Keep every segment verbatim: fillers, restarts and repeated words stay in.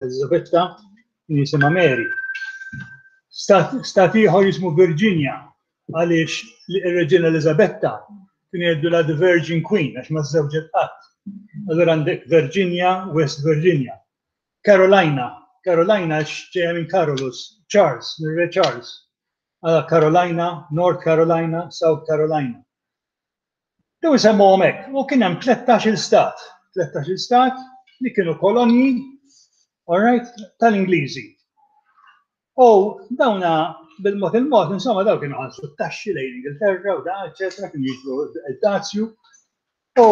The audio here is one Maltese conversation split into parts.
Elizabetta kien jisimha Mary. Stat, stat ieħor jismu Virginia, għaliex ir-Reġina Elizabetta kien jgħidulha the Virgin Queen għax ma żżewġet qatt. Allura għandek Virginia, West Virginia. Carolina, Carolina ġejja minn Carolus, Charles, minn Re Charles. Għala Carolina, North Carolina, South Carolina. Daw isemmuhom hekk, u kien hemm tlettax-il stat, tlettax-il stat li kienu kolonji, all right, tal-Ingliżi. U dawna bil-mod il-mod, insomma, daw kienu ħallsu t-taxxi lejn Ingilterra u da, eċetera, kienu jiġbru id-dazju. U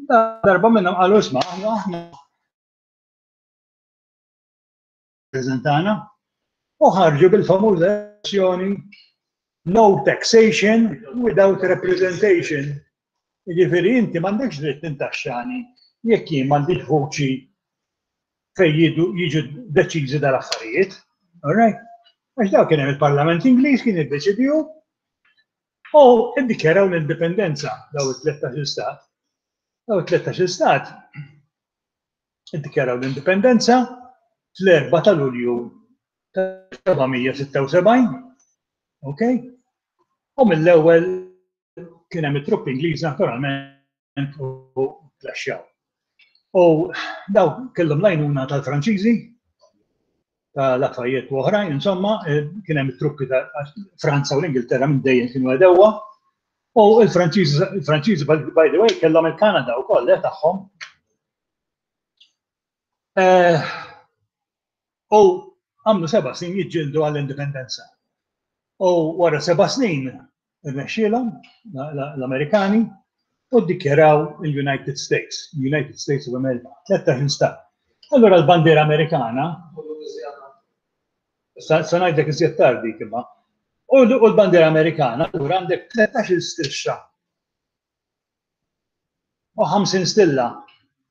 darba minnhom qalu, isma', aħna aħna preżentana u ħarġu bil-famuża espressjoni "no taxation without representation". Jiġifieri inti m'għandekx dritt tintaxxani jekk jien m'għandix vuċi fejn jiġu deċiżi dal-affarijiet. All right? Għax daw kien hemm il-Parlament Ingliż kien iddeċidiju u iddikjaraw l-indipendenza daw it-tlettax-il stat. Daw it-tlettax-il stat iddikjaraw l-indipendenza fl-erbgħa ta' Lulju ta' sebgħamija sitta u sebgħin. Ok? U mill-ewwel kien hemm it-truppi Ingliżi naturalment u klaxxjaw. U daw kellhom l-għajnuna tal-Franċiżi, ta' Lafayette u oħrajn, insomma, eh, kien hemm it-truppi ta' Franza u l-Ingilterra minn dejjem kienu għedewwa. U il-Franċiżi, il-Franċiżi by the way, kellhom il-Kanada wkoll eh, tagħhom. Eh, u għamlu seba' snin jiġġieldu għall-indipendenza. U wara seba' snin irnexxielhom l-Amerikani u ddikjaraw il-United States, United States of America, tlettax-il stat. Allora l-bandiera Amerikana, sa ngħidlek iżjed tardi imma, u l-bandiera Amerikana, allura għandek tlettax-il strixxa u ħamsin stilla,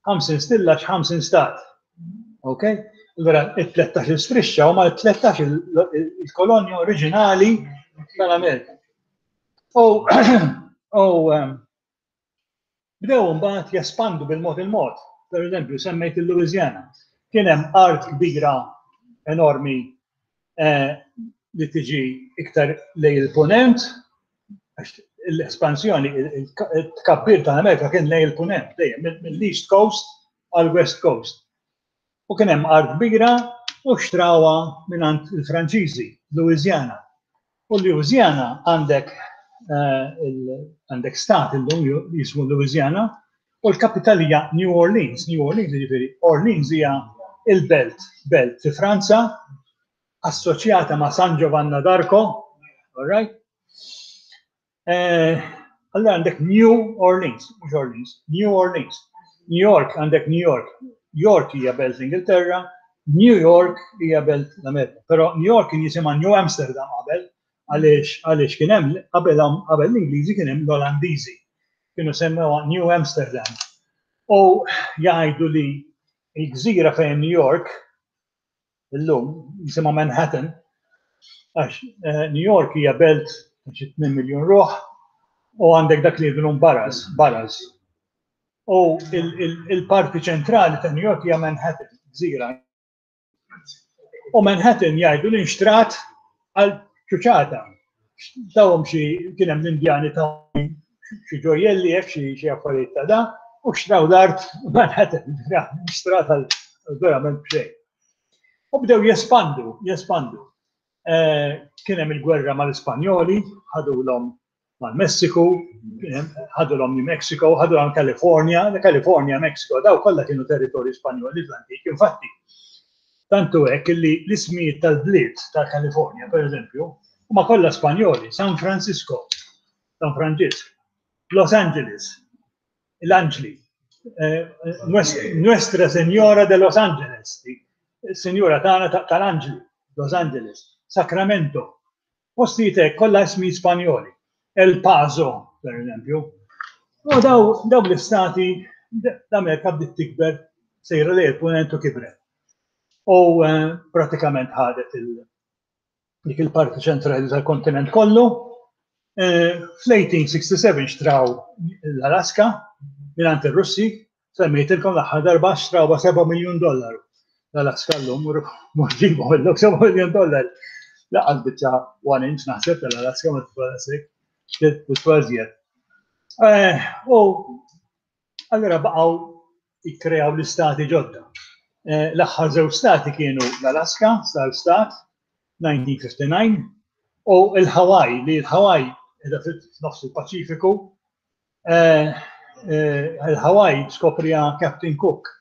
ħamsin stilla x'ħamsin stat. Ok? Allura it-tlettax-il strixxa huma t-tlettax il-kolonja oriġinali tal-Amerika. U u bdew mbagħad jespandu bil-mod il-mod. Per eżempju, semmejt il-Louisiana. Kien hemm art kbira enormi eh, li tiġi iktar lejn il-punent, għax l-espansjoni, il-tkabbir tal-Amerika kien lejn il-punent, dejjem mill-East Coast għal West Coast. U kien hemm art kbira u xtrawha mingħand il-Franċiżi, Louisiana. U Louisiana għandek eh, għandek stat illum jismu Louisiana u l-kapitali hija New Orleans. New Orleans, jiġifieri Orleans hija il-belt, belt fi Franza assoċjata ma' San Giovanna d'Arco, all right? Eh, allora għandek New Orleans, mhux Orleans, New Orleans. New York għandek New York. York hija belt l-Ingilterra, New York hija belt l-Amerika. Però New York kien jisimha New Amsterdam qabel, għaliex għaliex kien hemm qabel qabel l-Ingliżi kien hemm l-Olandiżi. Kienu semmewha New Amsterdam. U jgħidu li l-gżira fejn New York illum jisimha Manhattan, għax eh, New York hija belt xi tmien miljun ruħ u għandek dak li jgħidulhom boroughs, boroughs. U il-parti ċentrali ta' New York hija Manhattan, gżira. U Manhattan jgħidu li nxtrat għal ċuċata. Tawhom xi, kien hemm l-Indjani, ta' xi ġojjelli hekk, xi xi affarijiet ta' da, u xtraw l-art Manhattan, nxtrat għal verament b'xejn. U bdew jespandu, jespandu. Eh, kien hemm il-gwerra mal-Ispanjoli, ħadulhom mal-Messiku, ħadulhom New Mexico, ħadulhom California, California, Mexico, daw kollha kienu territorji Spanjoli fl-antik. Infatti, tantu hekk li l-ismijiet tal-bliet tal-California, per eżempju, huma kollha Spanjoli: San Francisco, San Francisco, Los Angeles, l-Anġli, eh, Nuestra Senora de Los Angeles, Senjora tagħna tal-Anġli, Los Angeles, Sacramento, postijiet hekk kollha ismi Spanjoli, El Paso, per eżempju. U daw, daw l-istati, l-Amerika bdiet tikber, sejra lejn il-punent u kibret. U eh, pratikament ħadet dik il-parti ċentrali tal-kontinent kollu. Eh, Fl-elf tmien mija u sitta u sebgħin xtraw l-Alaska mingħand ir-Russi, semmejtilkom l-aħħar darba, xtraw seba' miljun dollaru. L-Alaska llum, mur ġibu illum seba' miljun dollari. Lanqas biċċa one inch naħseb tal-Alaska ma tiswa daqshekk, tiswa iżjed. U allura baqgħu jikkreaw l-istati ġodda. L-aħħar żewġ stati kienu l-Alaska, sar stat, elf disa' mija u ħamsa u disgħin, u l-Hawaii, li l-Hawaii qiegħda f'nofs il-Paċifiku. Il-Hawaii skopriha Captain Cook.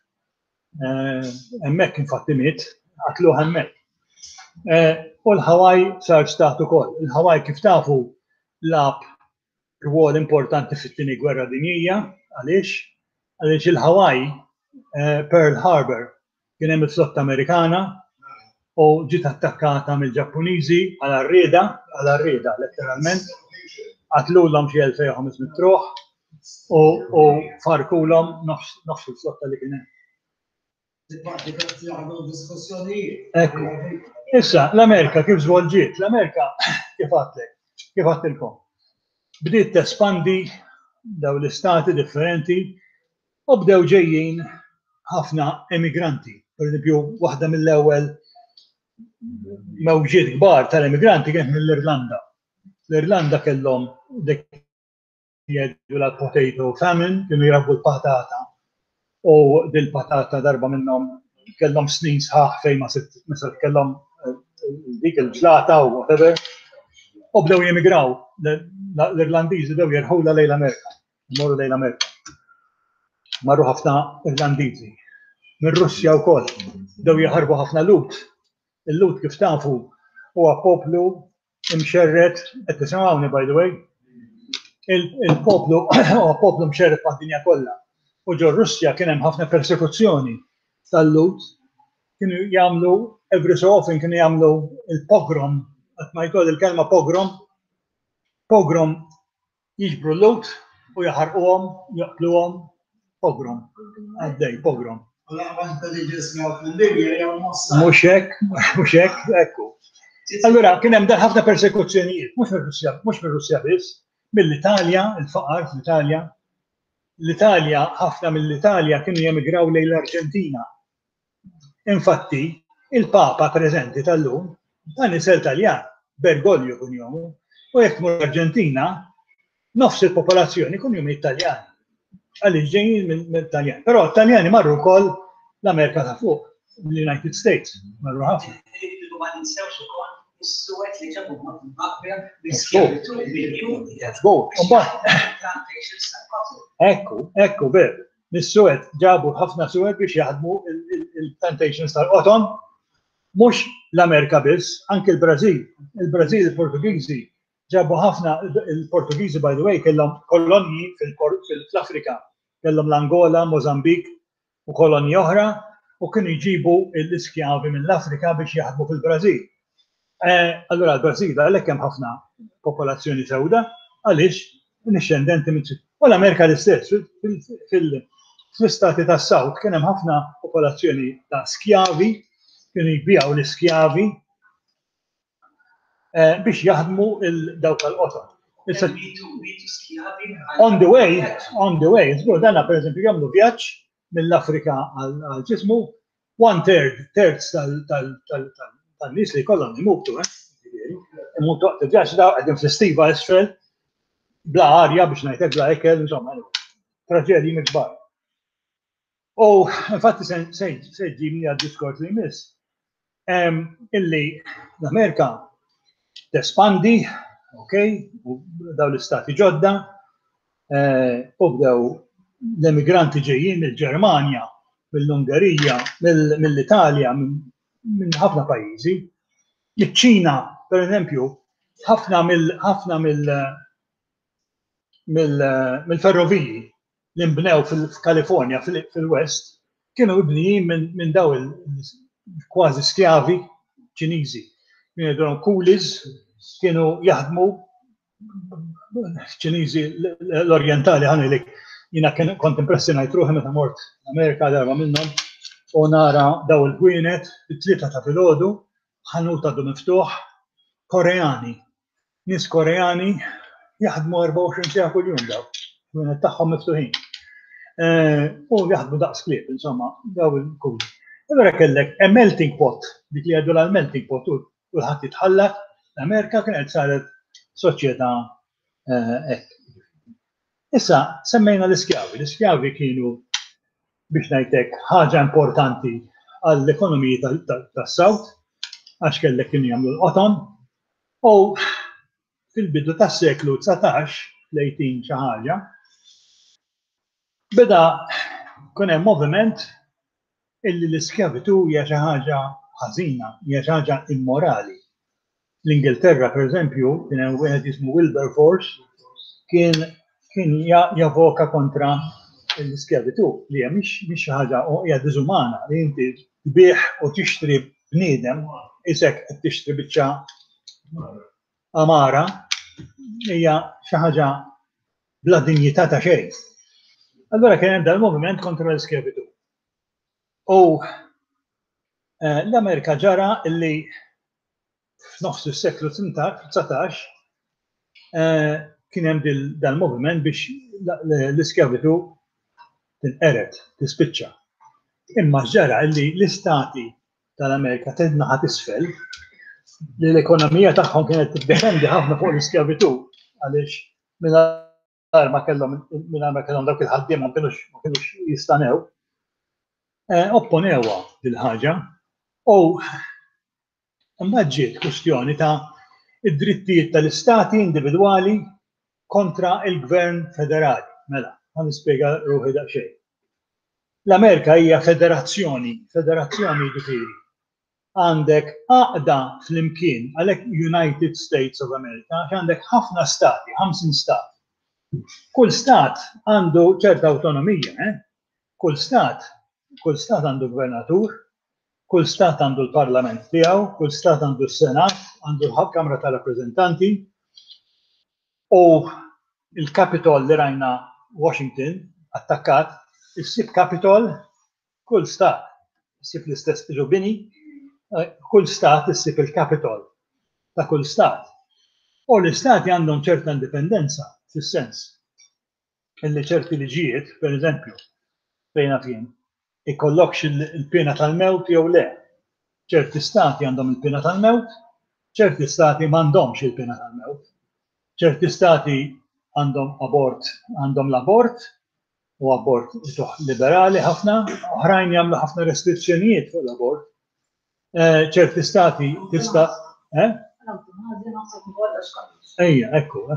Hemmhekk infatti miet, qatluh hemmhekk. U l-Hawaii sar stat ukoll. Il-Hawaii, kif tafu, lagħab rwol importanti fit-Tieni Gwerra Dinjija. Għaliex? Għaliex il-Hawaii, Pearl Harbor, kien hemm il-flotta Amerikana u ġiet attakkata mill-Ġappuniżi għal għarrieda, għal għarrieda letteralment, qatlulhom xi elfejn u ħames mitt ruħ u farkulhom nofs il-flotta li kien hemm. Ekku. Issa, l-Amerika kif żvolġiet? L-Amerika, kif għedtlek, kif għedtilkom, bdiet tespandi daw l-istati differenti u bdew ġejjin ħafna emigranti. Per eżempju, waħda mill-ewwel mewġiet kbar tal-emigranti kienet mill-Irlanda. L-Irlanda kellhom dik jgħidu la potato famine, kienu jrabbu l-patata. U dil-patata darba minnhom kellhom snin sħaħ fejn ma sitt kellhom dik il-ġlata u whatever. U bdew jemigraw. L-Irlandiżi bdew jerħula lejn l-Amerika. Morru lejn l-Amerika. Marru ħafna Irlandiżi. Mir-Russja wkoll. Bdew jaħarbu ħafna Lhud. Il-Lhud, kif tafu, huwa poplu imxerred, qed tisimgħuni, by the way? Il-poplu huwa poplu mxerred mad-dinja kollha. U ġo Russja kien hemm ħafna persekuzzjoni tal-Lhud. Kienu jagħmlu, every so often kienu jagħmlu il-pogrom, qatt ma jkoll il-kelma pogrom, pogrom, jiġbru l-Lhud u jaħarquhom, joqtluhom, pogrom, għaddej, pogrom. Mhux hekk, mhux hekk, ekku. Allura kien hemm ħafna persekuzzjonijiet, mhux mir-Russja, mhux mir-Russja biss, mill-Italja, il-faqar fl-Italja. L-Italja, ħafna mill-Italja kienu jemigraw lejn l-Arġentina. Infatti, il-Papa preżenti tal-lum, dan nisel Taljan, Bergoglio kunjomu, u jekk tmur Arġentina, nofs il-popolazzjoni kunjom Italjan. Għaliex ġejjin mill-Taljan. Però Taljani marru wkoll l-Amerika ta' fuq, l-United States, marru ħafna. Ma ninsewx ukoll is-suwed li ġabu magħhom l-iskjavitu miljuni. Plantations tal-cotton. Ekku, ekku, ver. Mis-suwed ġabu ħafna suwed biex jaħdmu il-plantations tal-qoton. Mhux l-Amerika biss, anke il-Brażil. Il-Brażil, il-Portugiżi ġabu ħafna, il-Portugiżi, by the way, kellhom kolonji fil-Afrika. Kellhom l-Angola, Mozambik u kolonji oħra u kienu jġibu l-iskjavi mill-Afrika biex jaħdmu fil-Brażil. Allura l-Brażil għalhekk hemm ħafna popolazzjoni sewda, għaliex dixxendenti minn. U l-Amerika l-istess, fl-istati tas South kien hemm ħafna popolazzjoni ta' skjavi, kienu jbijaw l-iskjavi biex jaħdmu il-dawk tal-qoton. On the way, on the way, żgur, danna per eżempju jagħmlu vjaġġ mill-Afrika għal ġismu, one third, terz tan-nies li kollhom imutu, eh? Imutu waqt il-vjaġġ, daw qegħdin fl-istiva isfel, bla arja biex ngħidlek, bla ekel, insomma, traġedji kbar. U infatti se ġibni għad-diskors li jmiss. Illi l-Amerika tespandi, ok, u daw l-istati ġodda, u bdew l-emigranti ġejjin mill-Ġermanja, mill-Ungerija, mill-Italja, minn ħafna pajjiżi. Iċ-Ċina, per eżempju, ħafna mill ħafna mill-ferroviji li nbnew fil-Kalifornja, fil-West, kienu mibnijin minn daw il-kważi skjavi Ċiniżi. Kienu jgħidulhom coolies, kienu jaħdmu Ċiniżi l-Orientali. Ħa ngħidlek, jiena kont impressjonajt ruħi meta mort Amerika darba minnhom u nara daw il-ħwienet it-tlieta ta' filgħodu, ħanut għadu miftuħ, Koreani. Nies Koreani jaħdmu erbgħa u għoxrin siegħa kuljum daw, ħwienet tagħhom miftuħin. U jaħdmu daqs klieb, insomma, daw il-coolies. Allura kellek a melting pot, dik li għadu l-melting pot, u kulħadd jitħallat, l-Amerika kienet saret soċjetà eh, hekk. Issa, semmejna l-iskjavi. L-iskjavi kienu, biex ngħidlek, ħaġa importanti għall-ekonomiji tas-South, għax kellek kienu jagħmlu l-qoton, u fil-bidu tas-seklu dsatax, l-tmintax xi ħaġa, beda kun hemm moviment illi l-iskjavitu hija xi ħaġa ħażina, hija xi ħaġa immorali. L-Ingilterra, per eżempju, kien hemm wieħed jismu Wilberforce, kien kien javoka kontra l-iskjavitu, li hija mhix xi ħaġa, hija diżumana li inti tbigħ u tixtri bniedem, isek qed tixtri biċċa amara, hija xi ħaġa bla dinjità ta' xejn. Allora kien hemm dal-moviment kontra l-iskjavitu. U eh, l-Amerika ġara illi f'nofs is-seklu dsatax eh, kien hemm dal-moviment biex l-iskjavitu tinqered, tispiċċa. Imma ġara illi l-istati tal-Amerika tan-naħa t'isfel, li l-ekonomija tagħhom kienet tiddependi ħafna fuq l-iskjavitu, għaliex mingħajr ma kellhom mingħajr ma kellhom dawk il-ħaddiema ma kinux ma kinux jistanew, eh, opponewha dil-ħaġa u mbagħad ġiet kwestjoni ta' id-drittijiet tal-istati individwali kontra il-gvern federali. Mela, ħa nispjega ruħi daqsxejn. L-Amerika hija federazzjoni, federazzjoni ġifieri għandek għaqda flimkien, għalhekk United States of America, għax għandek ħafna stati, ħamsin stat. Kull stat għandu ċerta autonomija, eh? Kull stat, kull stat għandu gvernatur, kull stat għandu l-parlament tiegħu, kull stat għandu s-senat, għandu l-Kamra tal-Rappreżentanti, u il-Capitol li rajna Washington attakkat, issib Capitol kull stat, issib l-istess bini, eh, kull stat issib il-Capitol ta' kull stat. U l-istati għandhom ċerta indipendenza, fis-sens illi ċerti liġijiet, per eżempju, fejn fien, ikollokx il-pena tal-mewt jew le. Ċerti stati għandhom il-pena tal-mewt, ċerti stati m'għandhomx il-pena tal-mewt. Ċerti stati għandhom abort, għandhom l-abort, u abort liberali ħafna, oħrajn jagħmlu ħafna restrizzjonijiet fuq l-abort. Eh, ċerti stati tista'. Eh? Ejja, ekku.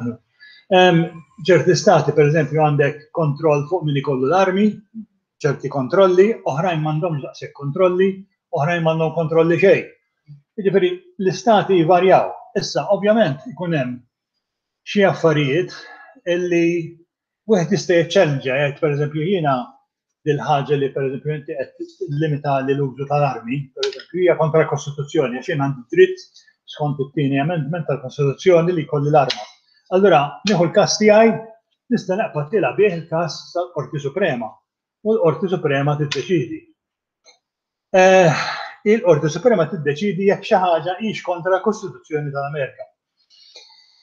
Ċerti stati, per eżempju, għandek kontroll fuq min ikollu l-armi, ċerti kontrolli, oħrajn m'għandhomx daqshekk kontrolli, oħrajn m'għandhom kontrolli xejn. Jiġifieri l-istati jvarjaw. Issa, ovvjament, ikun hemm xi affarijiet illi wieħed jista' jiċċellenġa, jgħid, pereżempju, jiena dil-ħaġa li, pereżempju, inti qed limita li l-użu tal-armi, pereżempju, hija kontra l-Kostituzzjoni, għax jien għandi dritt skont it-tieni amendment tal-Kostituzzjoni li jkolli l-arma. Allura, nieħu l-każ tiegħi, nista' naqbad tilha bih il-każ tal-Qorti Suprema. U l-Qorti Suprema tiddeċidi. Eh, il-Qorti Suprema tiddeċidi jekk xi ħaġa hix kontra l-Kostituzzjoni tal-Amerika.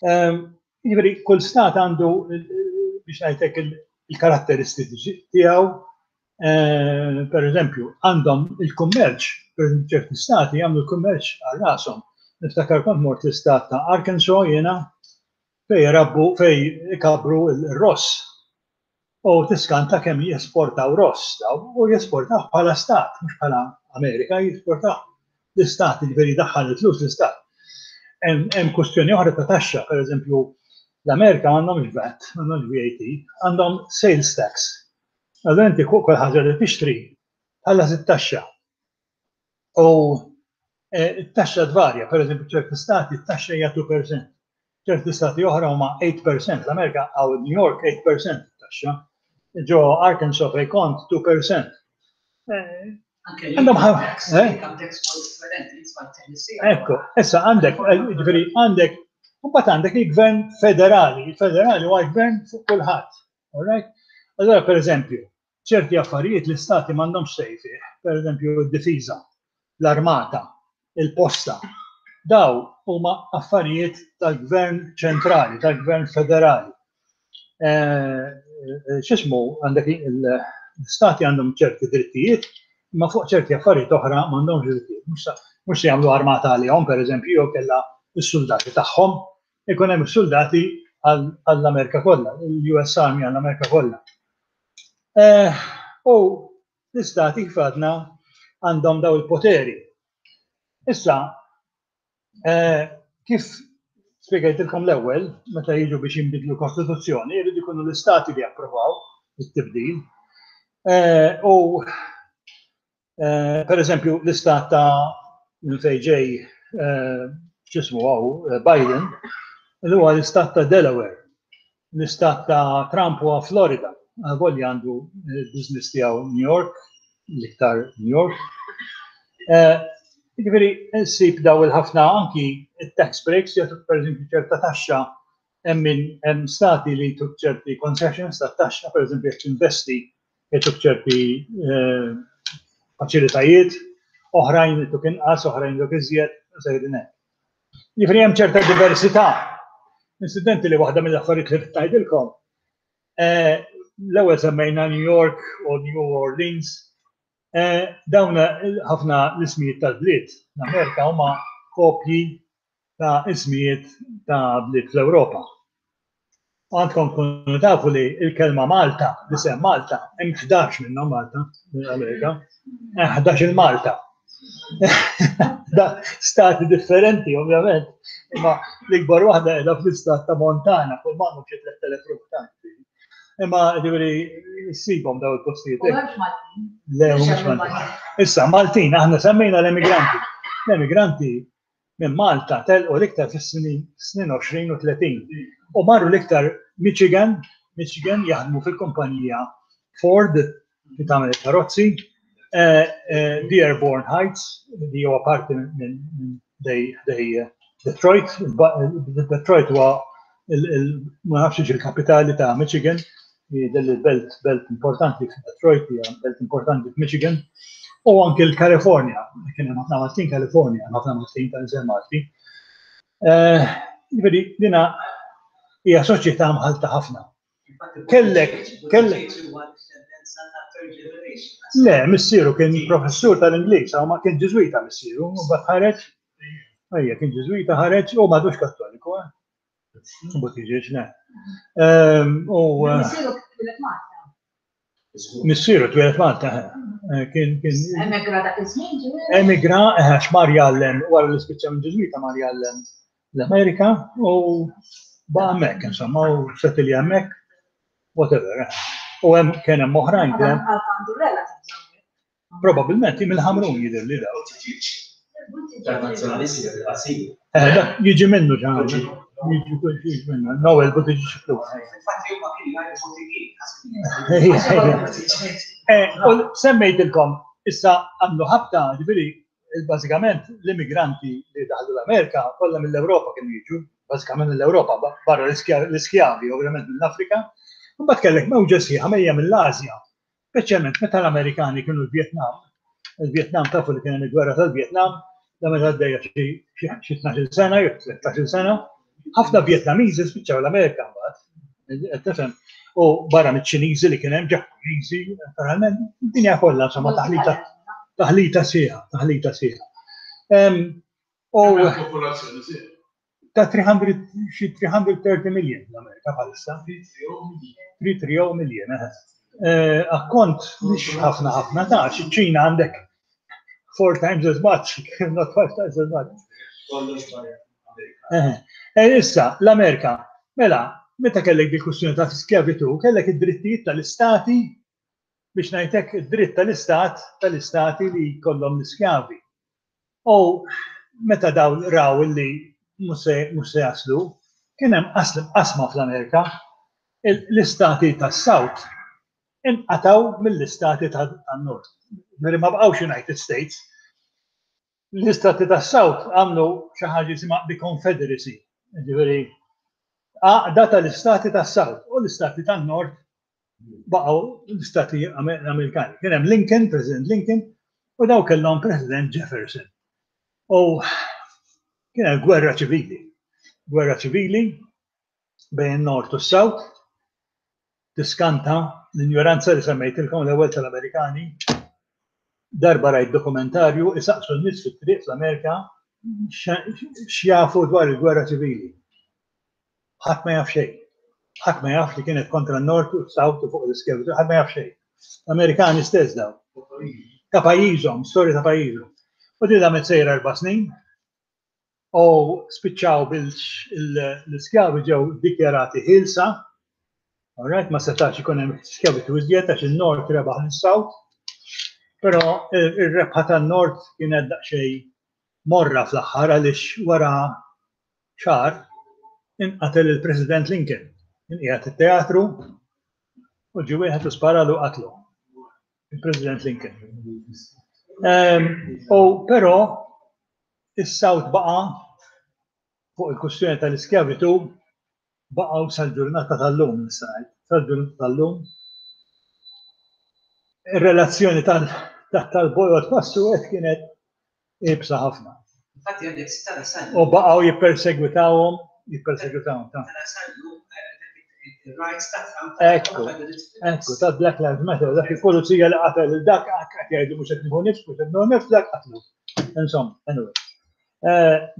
Ehm, jiġifieri kull stat għandu, biex ngħidlek, il-karatteristiċi tiegħu. Eh, per eżempju, għandhom il-kummerċ, per ċerti stati jagħmlu l-kummerċ għal rashom. Niftakar kont mort l-istat ta' Arkansas jiena, fej rabbu, fej ikabru il-ross. U tiskanta kemm jesportaw ross daw, u jesportaw bħala stat, mhux bħala Amerika, jesportaw l-istat, ġifieri daħħal il-flus l-istat. Hemm kwestjoni oħra ta' taxxa, per eżempju, l-Amerika għandhom VAT, għandhom V A T, għandhom sales tax. Allora inti kull ħaġa li tixtri tħallas it-taxxa. U eh, it-taxxa tvarja, per eżempju, ċerti stati t-taxxa hija two percent. Ċerti stati oħra huma eight percent, l-Amerika għaw New York eight percent taxxa. Ġo Arkansas fej kont two percent. Eh, għandhom eh? Ekku, issa għandek, ġifieri għandek, u għandek il-gvern federali, il-federali huwa gvern fuq kulħadd. All right? Allora, per eżempju, ċerti affarijiet l-istati m'għandhomx say fih, per eżempju, d-difiża, l-armata, il-posta. Daw huma affarijiet tal-gvern ċentrali, tal-gvern federali. Eh, eh, x'ismu, għandek l-stati għandhom ċerti drittijiet, Imma fuq ċerti affarijiet oħra m'għandhomx drittijiet. Mhux se jagħmlu armata għalihom, pereżempju, jew kellha s-soldati tagħhom, ikun hemm is-soldati għall-Amerika kollha, il-U S Army għall-Amerika kollha. Eh, u l-istati, kif għadna, għandhom daw il-poteri. Issa, eh, kif spiegajtilkom l-ewwel, meta jiġu biex jinbidlu kostituzzjoni, jridu jkunu l-istati li japprovaw it-tibdil. Eh, u per eżempju, l-istat ta' minn fejn ġej, x'ismu għaw, Biden, li huwa l-istat ta' Delaware. L-istat ta' Trump huwa Florida. Għavolja għandu business tiegħu New York, l-iktar New York. Jiġifieri, ssib daw il-ħafna anki tax breaks jagħtuk, per eżempju, ċerta taxxa, hemm hemm stati li jtuk ċerti concessions ta' taxxa, per eżempju, jekk investi jtuk ċerti eh, faċilitajiet, oħrajn jtuk inqas, oħrajn jtuk iżjed, sejrin hekk. Jiġifieri hemm ċerta diversità. Incidentally, waħda mill-affarijiet li tgħidilkom. Eh, l-ewwel semmejna New York u New Orleans. Eh, dawn ħafna l-ismijiet tal-bliet l-Amerika huma kopji ta' ismijiet ta' bliet fl-Ewropa. Għandkom kunu tafu li il-kelma Malta, l-isem Malta, hemm ħdax minnhom Malta mill-Amerika, ħdax il-Malta. Da stati differenti, ovvjament, imma l-ikbar waħda qiegħda fl-istat ta' Montana, kull m'għandhom xi tlett elef ruħ ta'. Imma ġifieri ssibhom daw il-postijiet. U hemmx Maltin. Le, mhux Maltin. Issa, Maltin, aħna semmejna l-emigranti. L-emigranti minn Malta telqu l-iktar fis-snin snin għoxrin u tletin. U marru l-iktar Michigan, Michigan jaħdmu fil-kumpanija Ford li tagħmel il-karozzi, eh, eh, Dearborn Heights, li huwa parti minn dej dej Detroit. Detroit huwa ma nafx il-kapitali ta' Michigan, del belt belt importanti f'Detroit, hija belt importanti f'Michigan, u anke l-Kalifornja, kien hemm ħafna Maltin Kalifornja, ħafna Maltin ta' Malti. Eh, jiġifieri dina hija soċjetà mħalta ħafna. Kellek, kellek. Le, missieru kien professur tal-Ingliż, ma kien Ġiżwita missieru, u mbagħad ħareġ, ejja, kien Ġiżwita, ħareġ u m'għadux Kattoliku, eh. Buttigieg, ne. Ehm, u eh, Missieru twieled Malta. Missieru twieled Malta, eh, kien kien Emigra dak iż-żmien, ġifieri? Emigra, għax mar jgħallem, wara li spiċċa minn Ġiżwita mar jgħallem l-Amerika u baqa' hemmhekk, insomma, u settle hemmhekk, whatever. eh. U hemm kien hemm oħrajn, kien hemm Għandu relatives hawnhekk. Probabbilment mill-Ħamrun jidher li daw. Tal-nazzjonalisti il-qasir. Eh, dak jiġi minnu ġan. Jiġi jiġi minnu. Noel Buttigieg xiflu. Infatti huma kienu jgħidu Buttigieg. Eh, u semmejtilkom, issa għamlu ħabta, ġifieri, bażikament l-immigranti li daħlu l-Amerika kollha mill-Ewropa kienu jiġu, bażikament mill-Ewropa, barra l-iskjavi, ovvjament mill-Afrika. Mbagħad kellek mewġa sħiħa mejja mill-Asja, speċjalment meta l-Amerikani kienu l-Vietnam. Il-Vietnam, tafu li kien hemm il-gwerra tal-Vietnam, da meta għaddejja xi tnax-il sena jew tlettax-il sena, ħafna Vietnamiżi spiċċaw l-Amerika mbagħad. Qed tifhem? U barra miċ-Ċiniżi li kien hemm, Ġappuniżi, naturalment, id-dinja kollha, insomma, taħlita taħlita sħiħa, taħlita sħiħa. U Popolazzjoni sħiħa. Ta' tliet mija, xi tliet mija u tletin million l-Amerika bħalissa. tliet mija u tletin million, eh. Eh, Akkont mhix ħafna ħafna ta' xi ċina għandek four times as much, not five times as much. Kollox barra. Eh, eh, Issa, l-Amerika, mela, meta kellek di kwistjoni ta' skjavitu, kellek id-drittijiet tal-istati, biex ngħidlek, id-dritt tal-istat, tal-istati li jkollhom l-iskjavi. U meta daw raw li mhux se jaslu, kien hemm qasma fl-Amerika, l-istati tas-South inqataw mill-istati tan-Nord. Meri ma bqgħux United States. L-istati tas-South għamlu xi ħaġa jisimha the Confederacy. Ġifieri għaqda tal-istati tas-South, u l-istati tan-Nord baqgħu l-istati Amerikani. Kien hemm Lincoln, President Lincoln, u daw kellhom President Jefferson. U kien hemm gwerra ċivili. Gwerra ċivili bejn Nord u South. Tiskanta l-ignoranza li semmejtilkom l-ewwel tal-Amerikani. Darba rajt dokumentarju isaqsu n-nies fit-triq fl-Amerika x'jafu dwar il-gwerra ċivili. Ħadd ma jaf xejn. Ħadd ma jaf li kienet kontra n-Nord u s-South u fuq l-iskjavitu, ħadd ma jaf xejn. L-Amerikani stess daw. Ta' pajjiżhom, storja ta' pajjiżhom. U din damet sejra erba' snin u spiċċaw bil-iskjavi ġew dikjarati ħielsa. Alright, ma setax ikun hemm skjavitu iżjed għax il-Nord rebaħ lis-South. Però ir-rebħa tan-Nord kienet daqsxejn morra fl-aħħar għaliex wara xahar inqatel il-President Lincoln. Inqiegħed it-teatru u ġie wieħed u sparalu qatlu. Il-President Lincoln. U però is-South baqa' fuq il-kwistjoni tal-iskjavitu baqgħu sal-ġurnata tal-lum nista' ngħid, sal-ġurnata tal-lum. Ir-relazzjoni tal-bojod mas-suwed kienet iebsa ħafna. Infatti għandek tara sal U baqgħu jippersegwitawhom, jippersegwitawhom ta' tara sal-lum il-rights tagħhom. Ekku, ekku, ta' Black Lives Matter, dak il-pulizija li qatel dak qed jgħidu mhux qed nieħu nifs, mhux qed nieħu nifs, dak qatlu. Insomma, anyway.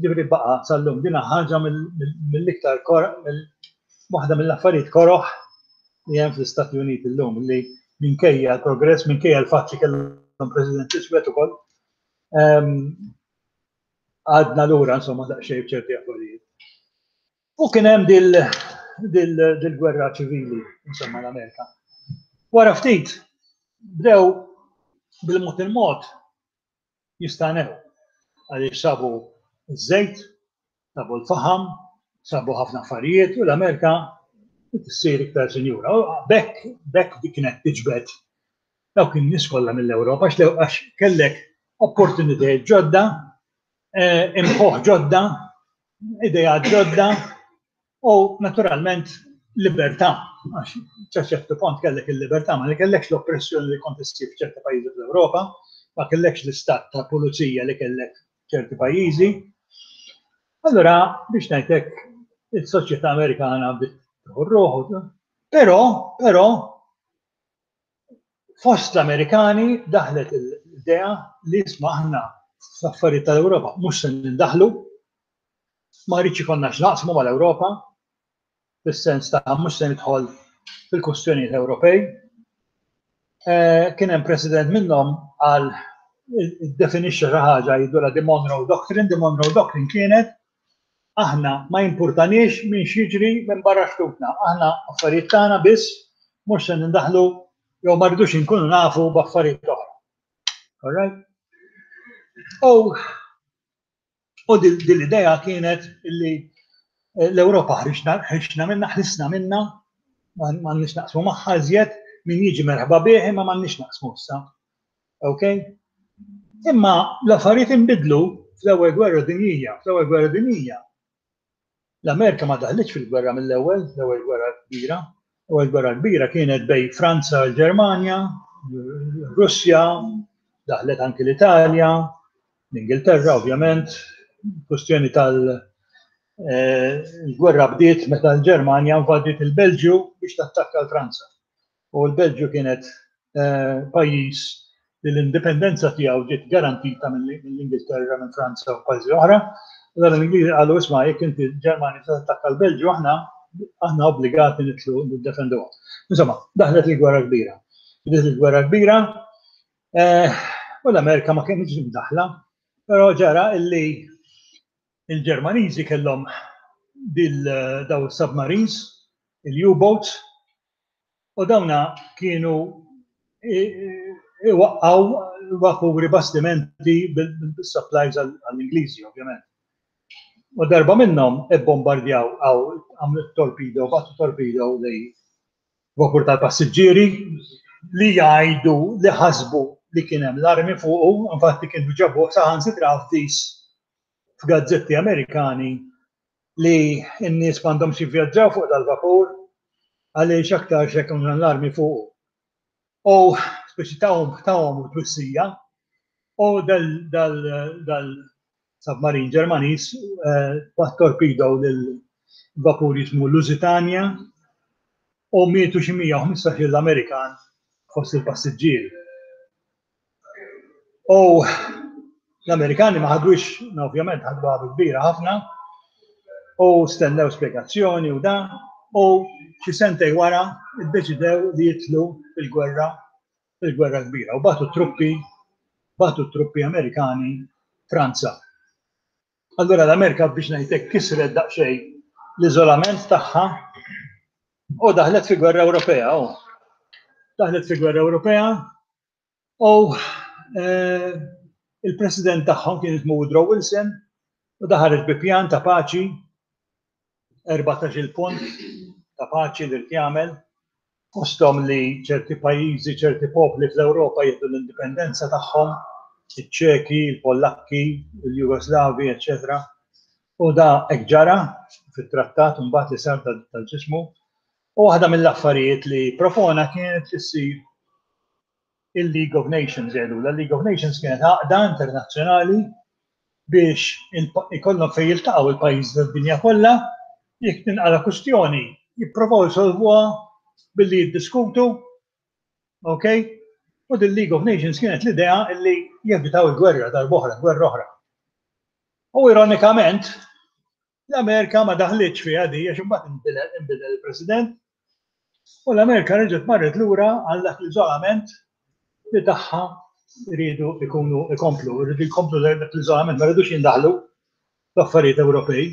Ġifieri baqa' sal-lum dina ħaġa mill-iktar waħda mill-affarijiet koroħ li hemm fl-Istati Uniti llum li minkejja l-progress, minkejja l-fatt li kellhom President iswed ukoll, għadna lura insomma daqsxejn b'ċerti affarijiet. U kien hemm dil-gwerra ċivili insomma l-Amerika. Wara ftit bdew bil-mod il-mod jistanew għaliex sabu ż-żejt, sabu l-faħam, sabu ħafna affarijiet u l-Amerika tissir iktar sinjura. U bekk, bekk dik kienet tiġbed dawk in-nies kollha mill-Ewropa għax kellek opportunitajiet ġodda, imħuħ ġodda, idejat ġodda u naturalment libertà. Għax sa ċertu punt kellek il-libertà, ma kellekx l-oppressjoni li kont issib f'ċerti pajjiżi fl-Ewropa, ma kellekx l-istat ta' pulizija li kellek ċerti pajjiżi. Allora, biex ngħidlek, il-soċjetà Amerikana bdiet tieħu ruħu, però, però, fost l-Amerikani daħlet l-idea li isma' aħna fl-affarijiet tal-Ewropa mhux se nindaħlu, ma rridx ikollna x'naqsmu mal-Ewropa, fis-sens ta' mhux se nidħol fil-kwistjonijiet Ewropej. Kien hemm president minnhom għal iddefinixxa xi ħaġa jgħidulha the Monroe Doctrine. The Monroe Doctrine kienet aħna ma jimpurtaniex minn x'jiġri minn barra xtutna, aħna affarijiet tagħna biss mhux se nindaħlu jew ma rridux inkunu nafu b'affarijiet oħra. All right? U u din l-idea kienet illi l-Ewropa ħriġna minna, ħlisna minna, m'għandniex naqsmu magħha iżjed, min jiġi merħba bih imma m'għandniex naqsmu issa. Ok? Imma l-affarijiet inbidlu fl-ewwel gwerra dinjija, fl-ewwel gwerra dinjija. L-Amerika ma daħlitx fil-gwerra mill-ewwel, l-ewwel gwerra kbira. L-ewwel gwerra kbira kienet bejn Franza u l-Ġermanja, Russja, daħlet anki l-Italja, l-Ingilterra ovvjament, kwestjoni tal- il-gwerra bdiet meta l-Ġermanja invadiet il-Belġju biex tattakka l-Franza. U l-Belġju kienet pajjiż li l-indipendenza tiegħu ġiet garantita mill-Ingilterra, minn Franza u pajjiżi oħra. Allora l-Ingliżi qalu isma' jekk inti Ġermanja tattakka l-Belġju aħna aħna obbligati nidħlu niddefenduha. Insomma, daħlet il-gwerra kbira. Bdiet il-gwerra kbira u l-Amerika ma kienx mdaħla, però ġara illi il-Ġermaniżi kellhom dil daw submarines, il-U-boats, u dawna kienu iwaqqgħu vapuri bastimenti bil-supplies għall-Ingliżi, ovvjament. U darba minnhom ibbombardjaw għaw għamlu torpedo, bagħtu torpedo li vapur tal-passiġġieri li jgħidu li ħasbu li kien hemm l-armi fuqu, infatti kienu ġabu saħansitra avviż f'gazzetti Amerikani li n-nies m'għandhomx jivvjaġġaw fuq dal-vapur għaliex aktar x'hekk l-armi fuqu. U speċi tawhom tawhom twissija u dal submarin Ġermaniż bagħat torpedo lil vapur jismu Lusitania u mietu xi mija u ħmistax-il Amerikan fost il-passiġġieri. U l-Amerikani ma ħadux, ovvjament ħadwa kbira ħafna, u stennew spjegazzjoni u da, u xi sentej wara iddeċidew li jidħlu fil-gwerra, fil-gwerra kbira, u bagħtu truppi, bagħtu truppi Amerikani Franza. Allura l-Amerika, biex ngħidlek, kisret daqsxejn l-iżolament tagħha u daħlet fi gwerra Ewropea. U daħlet fi gwerra Ewropea u eh, il-president tagħhom kien ismu Woodrow Wilson u daħaret bi pjan ta' paċi, erbatax-il punt ta' paċi li jagħmel, fosthom li ċerti pajjiżi, ċerti popli fl-Ewropa jieħdu l-indipendenza tagħhom, iċ-Ċeki, il-Pollakki, il-Jugoslavi, eċċetera. U da hekk ġara fit-trattat mbagħad li sar tal-ġismu. U waħda mill-affarijiet li propona kienet li ssir il-League of Nations jgħidu. La League of Nations kienet għaqda internazzjonali biex ikollhom fejn jiltaqgħu il-pajjiż tad-dinja kollha, jekk tinqala kwistjoni jipprovaw jsolvuha billi jiddiskutu, ok? U din League of Nations kienet l-idea li jevitaw il-gwerra darb'oħra, gwerra oħra. U ironikament, l-Amerika ma daħlitx fiha di għax imbagħad inbidel il-President u l-Amerika reġgħet marret lura għal dak l-iżolament li tagħha rridu ikunu ikomplu, rridu jkomplu dak l-iżolament, ma rridux jindaħlu l-affarijiet Ewropej.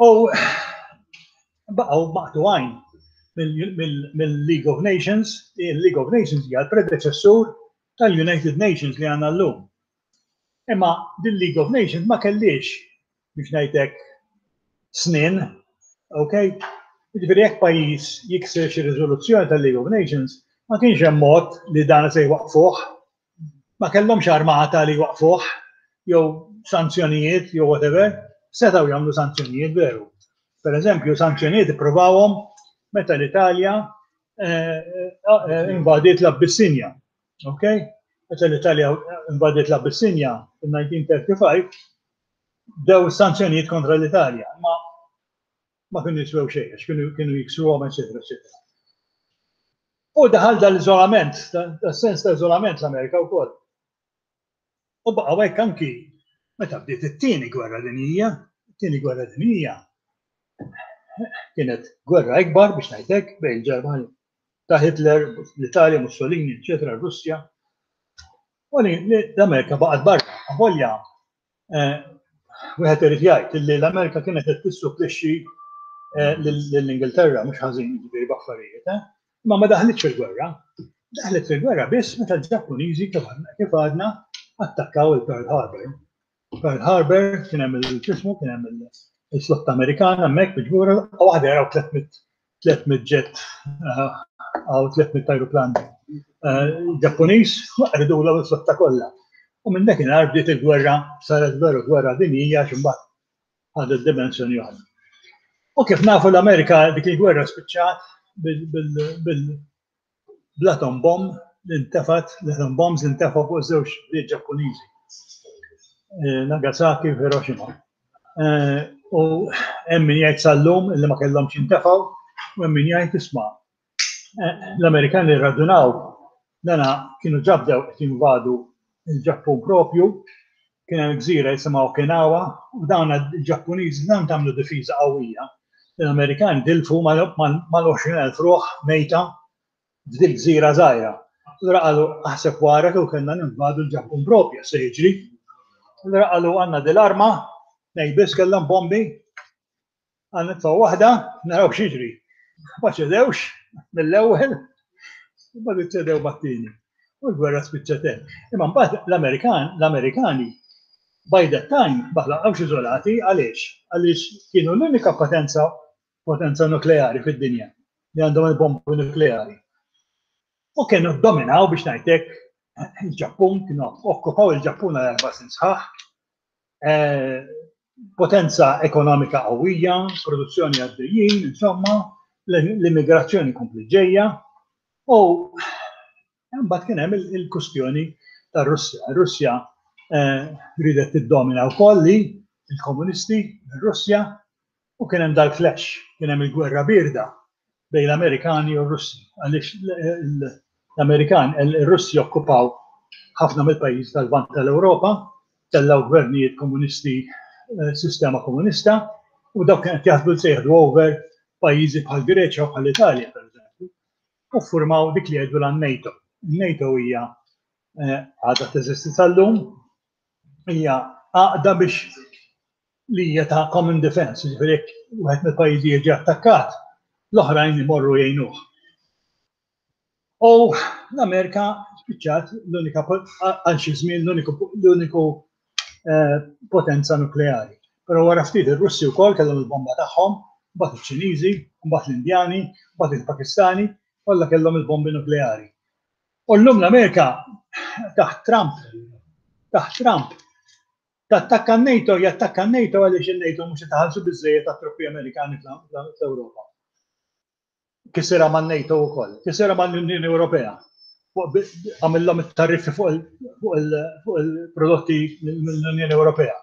U baqgħu maqtugħin mill-League of Nations. Il-League of Nations hija l-predeċessur tal-United Nations li għandna llum. Imma din League of Nations ma kellix, biex ngħidlek, snin, ok? Jiġifieri jekk pajjiż jikser xi riżoluzzjoni tal-League of Nations, ma kienx hemm mod li dan se jwaqfuh. Ma kellhomx armata li jwaqfuh, jew sanzjonijiet, jew whatever, setgħu jagħmlu sanzjonijiet, veru. Per eżempju, sanzjonijiet ippruvawhom meta l-Italja eh, eh, invadiet l-Abbissinja. Ok? Meta l-Italja invadiet l-Abbissinja fil-elf disa' mija u tlettax, dew sanzjonijiet kontra l-Italja. Ma ma kienu jiswew xejn, għax kienu kienu jiksruhom, eċetera, eċetera. U daħal dal-iżolament, da sens ta' iżolament l-Amerika wkoll. U baqgħu hekk anki meta bdiet it-tieni gwerra dinjija. It-tieni gwerra dinjija kienet gwerra ikbar, biex ngħidlek, bejn il-Ġermanja ta' Hitler, l-Italja, Mussolini, eċetera, Russja. U l-Amerika baqgħet barra. Avolja eh, wieħed irid jgħid li l-Amerika kienet qed tissupplixxi eh, lill-Ingilterra mhux ħażin, jiġifieri b'affarijiet, eh? Ma ma daħlitx fil-gwerra. Daħlet fil-gwerra biss meta l-Ġappuniżi, kif għadna, attakkaw il-Pearl Harbor. Pearl Harbor kien hemm il-ġismu, kien hemm il-flotta Amerikana hemmhekk miġbura, u waħda jaraw tliet mitt jet għaw tliet mitt aeroplan Ġappuniż, rridu l-flotta kollha. U minn dakinhar bdiet il-gwerra, saret veru gwerra dinjija, x'imbagħad ħadet dimensjoni oħra. U kif nafu, l-Amerika dik il-gwerra spiċċat bil-atom bomb li ntefat, l-atom bombs li ntefat fuq żewġ bliet Ġappuniżi, Nagasaki u Hiroshima. U hemm min jgħid sal-lum li ma kellhomx jintefgħu u hemm min jgħid, isma', l-Amerikani rradunaw dana kienu ġabdew qed jinvadu il-Ġappun propju, kien hemm gżira jisimha Okinawa u dawn il-Ġappuniżi dan tagħmlu difiża qawwija. L-Amerikani tilfu mal-għoxrin elf ruħ mejta f'dil gżira żgħira. Allura qalu, aħseb wara kieku kellna ninvadu l-Ġappun propju se jiġri. Allura qalu, għandna dil-arma, nej biss kellhom bombi, għandna nitfgħu waħda, naraw x'jiġri. Ma ċedewx mill-ewwel, ma ċedew mat-tieni. U l-gwerra spiċċat hemm. Imma mbagħad l-Amerikan, l-Amerikani by that time ma baqgħux iżolati. Għaliex? Għaliex kienu l-unika potenza potenza nukleari fid-dinja li għandhom il-bombi nukleari. U kienu dominaw, biex ngħidlek, il-Ġappun, kienu okkupaw il-Ġappun għal erba' snin sħaħ. Eh, potenza ekonomika qawwija, produzzjoni għaddejjin, insomma, l-immigrazzjoni kompli ġejja. U mbagħad kien hemm il-kustjoni tar-Russja. Ir-Russja eh, ridet tiddomina wkoll li il-komunisti, ir-Russja, u kien hemm dal-clash, kien hemm il-gwerra birda bejn l-Amerikani u r-Russi. Għaliex l-Amerikan, il-Russi okkupaw Ħafna mill-pajjiżi tal-Lvant tal-Ewropa tellgħu gvernijiet komunisti, eh, sistema komunista, u dawk kienet jaħdmu se jieħdu over pajjiżi bħal Greċja u bħal Italja, per eżempju, u ffurmaw dik li jgħidu l-NATO. NATO hija eh, għadha teżisti sal-lum, hija għaqda biex li hija ta' common defense, ġifieri jekk wieħed mill-pajjiżi jiġi attakkat, l-oħrajn imorru jgħinuh. U l-Amerika spiċċat l-unika għal xi żmien l-uniku eh, potenza nukleari. Però wara ftit ir-Russi wkoll kellhom il-bomba tagħhom, mbagħad iċ-Ċiniżi, mbagħad l-Indjani, mbagħad il-Pakistani, kollha kellhom il-bombi nukleari. U llum l-Amerika taħt Trump, taħt Trump, tattakka n-NATO, jattakka n-NATO għaliex il-NATO mhux jitħallsu biżejjed tat-truppi Amerikani fl-Ewropa. Kisirha man-NATO wkoll, kisirha mal-Unjoni Ewropea. Għamillhom it-tariffi fuq il-prodotti mill-Unjoni Ewropea.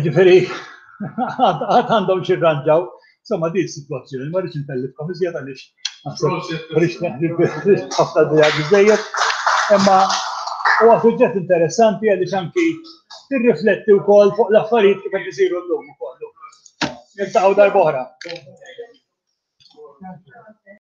Ġifieri, għad għandhom xi rranġaw. Insomma, di situazzjoni, ma rridx intellifkom iżjed għaliex rridx ħafna dija biżejjed. Imma huwa suġġett interessanti għaliex anki tirrifletti wkoll fuq l-affarijiet kif qed isiru llum ukoll. Niltaqgħu darb'oħra.